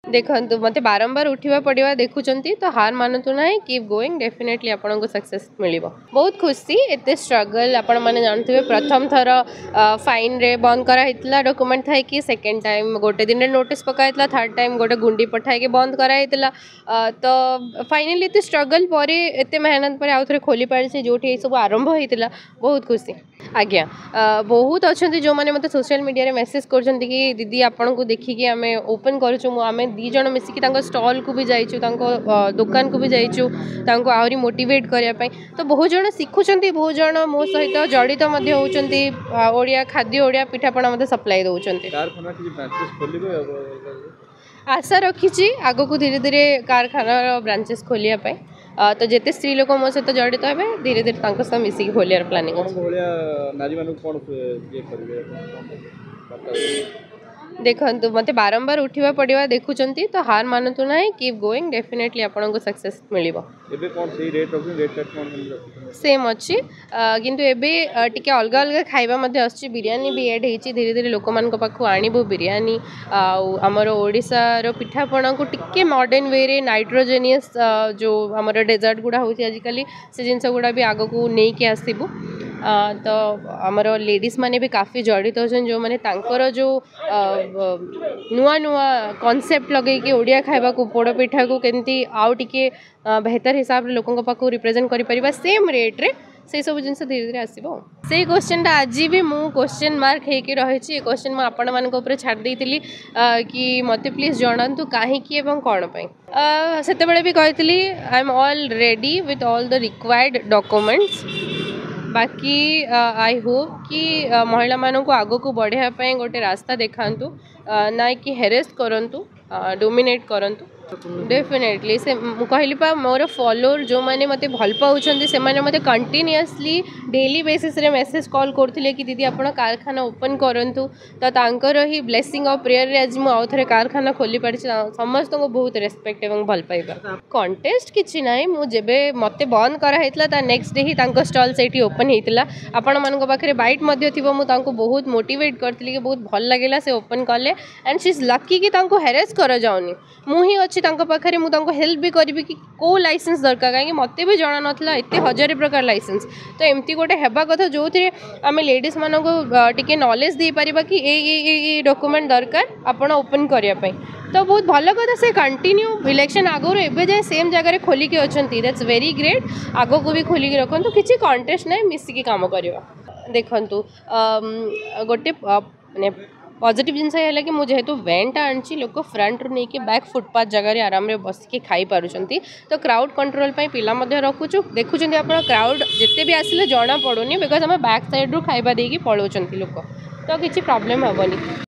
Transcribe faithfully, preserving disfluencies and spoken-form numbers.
ଦେଖନ୍ତୁ ମୋତେ ବାରମ୍ବାର ଉଠିବା ପଡ଼ିବା ଦେଖୁଛନ୍ତି ତ ହାର ମାନନ୍ତୁ ନାହିଁ କିପ୍ ଗୋଇଂ ଡେଫିନେଟଲି ଆପଣଙ୍କୁ ସକ୍ସେସ୍ ମିଳିବ ବହୁତ ଖୁସି ଏତେ ଷ୍ଟ୍ରଗଲ୍ ଆପଣମାନେ ଜାଣୁଥିବେ ପ୍ରଥମ ଥର ଫାଇନ୍ରେ ବନ୍ଦ କରାହେଇଥିଲା ଡକୁମେଣ୍ଟ ଥାଇକି ସେକେଣ୍ଡ ଟାଇମ୍ ଗୋଟେ ଦିନରେ ନୋଟିସ୍ ପକା ହେଇଥିଲା ଥାର୍ଡ଼ ଟାଇମ୍ ଗୋଟେ ଗୁଣ୍ଡି ପଠାଇକି ବନ୍ଦ କରାହେଇଥିଲା ତ ଫାଇନାଲି ଏତେ ଷ୍ଟ୍ରଗଲ୍ ପରେ ଏତେ ମେହନତ ପରେ ଆଉ ଥରେ ଖୋଲି ପାରିଛି ଯେଉଁଠି ଏସବୁ ଆରମ୍ଭ ହେଇଥିଲା ବହୁତ ଖୁସି ଆଜ୍ଞା ବହୁତ ଅଛନ୍ତି ଯେଉଁମାନେ ମୋତେ ସୋସିଆଲ ମିଡ଼ିଆରେ ମେସେଜ୍ କରୁଛନ୍ତି କି ଦିଦି ଆପଣଙ୍କୁ ଦେଖିକି ଆମେ ଓପନ୍ କରୁଛୁ ମୁଁ ଆମେ ଦୁଇ ଜଣ ମିଶିକି ତାଙ୍କ ଷ୍ଟଲ୍କୁ ବି ଯାଇଛୁ ତାଙ୍କ ଦୋକାନକୁ ବି ଯାଇଛୁ ତାଙ୍କୁ ଆହୁରି ମୋଟିଭେଟ୍ କରିବା ପାଇଁ ତ ବହୁତ ଜଣ ଶିଖୁଛନ୍ତି ବହୁତ ଜଣ ମୋ ସହିତ ଜଡ଼ିତ ମଧ୍ୟ ହେଉଛନ୍ତି ଓଡ଼ିଆ ଖାଦ୍ୟ ଓଡ଼ିଆ ପିଠାପଣା ମୋତେ ସପ୍ଲାଏ ଦେଉଛନ୍ତି କାରଖାନା କିଛି ବ୍ରାଞ୍ଚେସ୍ ଖୋଲିବେ ଆଶା ରଖିଛି ଆଗକୁ ଧୀରେ ଧୀରେ କାରଖାନାର ବ୍ରାଞ୍ଚେସ୍ ଖୋଲିବା ପାଇଁ ତ ଯେତେ ସ୍ତ୍ରୀ ଲୋକ ମୋ ସହିତ ଜଡ଼ିତ ହେବେ ଧୀରେ ଧୀରେ ତାଙ୍କ ସହ ମିଶିକି ଖୋଲିବାର ପ୍ଲାନିଂ ଅଛି ଆପଣଙ୍କ ଭଳିଆ ନାରୀମାନଙ୍କୁ କ'ଣ ଇଏ କରିବେ ଆପଣ କ'ଣ ବାର୍ତ୍ତା ଦେବେ? ଦେଖନ୍ତୁ ମୋତେ ବାରମ୍ବାର ଉଠିବା ପଡ଼ିବା ଦେଖୁଛନ୍ତି ତ ହାର ମାନନ୍ତୁ ନାହିଁ କିପ୍ ଗୋଇଂ ଡେଫିନେଟଲି ଆପଣଙ୍କୁ ସକ୍ସେସ୍ ମିଳିବ ଏବେ କ'ଣ ସେଇ ରେଟ୍ ରଖୁଛନ୍ତି ରେଟ୍ ଫେଟ୍ କ'ଣ କେମିତି ରଖୁଛନ୍ତି ସେମ୍ ଅଛି କିନ୍ତୁ ଏବେ ଟିକେ ଅଲଗା ଅଲଗା ଖାଇବା ମଧ୍ୟ ଆସୁଛି ବିରିୟାନୀ ବି ଏଡ଼୍ ହେଇଛି ଧୀରେ ଧୀରେ ଲୋକମାନଙ୍କ ପାଖକୁ ଆଣିବୁ ବିରିୟାନୀ ଆଉ ଆମର ଓଡ଼ିଶାର ପିଠାପଣାକୁ ଟିକେ ମଡ଼ର୍ଣ୍ଣ ୱେରେ ନାଇଟ୍ରୋଜେନିୟସ୍ ଯେଉଁ ଆମର ଡେଜର୍ଟ ଗୁଡ଼ା ହେଉଛି ଆଜିକାଲି ସେ ଜିନିଷ ଗୁଡ଼ା ବି ଆଗକୁ ନେଇକି ଆସିବୁ ତ ଆମର ଲେଡ଼ିଜ୍ ମାନେ ବି କାଫି ଜଡ଼ିତ ଅଛନ୍ତି ଯେଉଁମାନେ ତାଙ୍କର ଯେଉଁ ନୂଆ ନୂଆ କନସେପ୍ଟ ଲଗେଇକି ଓଡ଼ିଆ ଖାଇବାକୁ ପୋଡ଼ ପିଠାକୁ କେମିତି ଆଉ ଟିକେ ବେହତର ହିସାବରେ ଲୋକଙ୍କ ପାଖକୁ ରିପ୍ରେଜେଣ୍ଟ କରିପାରିବା ସେମ୍ ରେଟ୍ରେ ସେଇ ସବୁ ଜିନିଷ ଧୀରେ ଧୀରେ ଆସିବ ଆଉ ସେଇ କ୍ୱେଶ୍ଚନଟା ଆଜି ବି ମୁଁ କ୍ୱେଶ୍ଚନ ମାର୍କ ହେଇକି ରହିଛି ଏ କ୍ୱେଶ୍ଚନ ମୁଁ ଆପଣମାନଙ୍କ ଉପରେ ଛାଡ଼ି ଦେଇଥିଲି କି ମୋତେ ପ୍ଲିଜ୍ ଜଣାନ୍ତୁ କାହିଁକି ଏବଂ କ'ଣ ପାଇଁ ସେତେବେଳେ ବି କହିଥିଲି I am all ready with all the required documents ବାକି I Hope କି ମହିଳାମାନଙ୍କୁ ଆଗକୁ ବଢ଼ିବା ପାଇଁ ଗୋଟେ ରାସ୍ତା ଦେଖାନ୍ତୁ ନା କି ହେରେସ୍ କରନ୍ତୁ ଡୋମିନେଟ୍ କରନ୍ତୁ ଡେଫିନେଟଲି ସେ ମୁଁ କହିଲି ପା ମୋର ଫଲୋଅର୍ ଯେଉଁମାନେ ମୋତେ ଭଲ ପାଉଛନ୍ତି ସେମାନେ ମୋତେ କଣ୍ଟିନ୍ୟୁଅସଲି ଡେଲି ବେସିସ୍ରେ ମେସେଜ୍ କଲ୍ କରୁଥିଲେ କି ଦିଦି ଆପଣ କାରଖାନା ଓପନ୍ କରନ୍ତୁ ତ ତାଙ୍କର ହିଁ ବ୍ଲେସିଂ ଆଉ ପ୍ରେୟରରେ ଆଜି ମୁଁ ଆଉ ଥରେ କାରଖାନା ଖୋଲି ପାରିଛି ସମସ୍ତଙ୍କୁ ବହୁତ ରେସ୍ପେକ୍ଟ ଏବଂ ଭଲ ପାଇବା କଣ୍ଟେଷ୍ଟ କିଛି ନାହିଁ ମୁଁ ଯେବେ ମୋତେ ବନ୍ଦ କରାହେଇଥିଲା ତା ନେକ୍ସଟ ଡେ ହିଁ ତାଙ୍କ ଷ୍ଟଲ୍ ସେଇଠି ଓପନ୍ ହେଇଥିଲା ଆପଣମାନଙ୍କ ପାଖରେ ବାଇଟ୍ ମଧ୍ୟ ଥିବ ମୁଁ ତାଙ୍କୁ ବହୁତ ମୋଟିଭେଟ୍ କରିଥିଲି କି ବହୁତ ଭଲ ଲାଗିଲା ସେ ଓପନ୍ କଲେ ଆଣ୍ଡ ସି is lucky କି ତାଙ୍କୁ ହେରେସ୍ କରାଯାଉନି ମୁଁ ହିଁ ଅଛି ତାଙ୍କ ପାଖରେ ମୁଁ ତାଙ୍କୁ ହେଲ୍ପ ବି କରିବି କି କେଉଁ ଲାଇସେନ୍ସ ଦରକାର କାହିଁକି ମୋତେ ବି ଜଣା ନଥିଲା ଏତେ ହଜାରେ ପ୍ରକାର ଲାଇସେନ୍ସ ତ ଏମିତି ଗୋଟେ ହେବା କଥା ଯେଉଁଥିରେ ଆମେ ଲେଡ଼ିଜ୍ମାନଙ୍କୁ ଟିକେ ନଲେଜ୍ ଦେଇପାରିବା କି ଏଇ ଏଇ ଏଇ ଏଇ ଡକୁମେଣ୍ଟ ଦରକାର ଆପଣ ଓପନ୍ କରିବା ପାଇଁ ତ ବହୁତ ଭଲ କଥା ସେ କଣ୍ଟିନ୍ୟୁ ଇଲେକ୍ସନ୍ ଆଗରୁ ଏବେ ଯାଏଁ ସେମ୍ ଜାଗାରେ ଖୋଲିକି ଅଛନ୍ତି that's very great ଆଗକୁ ବି ଖୋଲିକି ରଖନ୍ତୁ କିଛି କଣ୍ଟେଷ୍ଟ ନାହିଁ ମିଶିକି କାମ କରିବା ଦେଖନ୍ତୁ ଗୋଟେ ମାନେ ପଜିଟିଭ୍ ଜିନିଷ ହେଲା କି ମୁଁ ଯେହେତୁ ଭ୍ୟାନ୍ଟା ଆଣିଛି ଲୋକ ଫ୍ରଣ୍ଟରୁ ନେଇକି ବ୍ୟାକ୍ ଫୁଟପାଥ୍ ଜାଗାରେ ଆରାମରେ ବସିକି ଖାଇପାରୁଛନ୍ତି ତ କ୍ରାଉଡ଼ କଣ୍ଟ୍ରୋଲ୍ ପାଇଁ ପିଲା ମଧ୍ୟ ରଖୁଛୁ ଦେଖୁଛନ୍ତି ଆପଣ କ୍ରାଉଡ଼ ଯେତେ ବି ଆସିଲେ ଜଣା ପଡ଼ୁନି because ଆମେ ବ୍ୟାକ୍ ସାଇଡ଼୍ରୁ ଖାଇବା ଦେଇକି ପଳାଉଛନ୍ତି ଲୋକ ତ କିଛି ପ୍ରୋବ୍ଲେମ୍ ହେବନି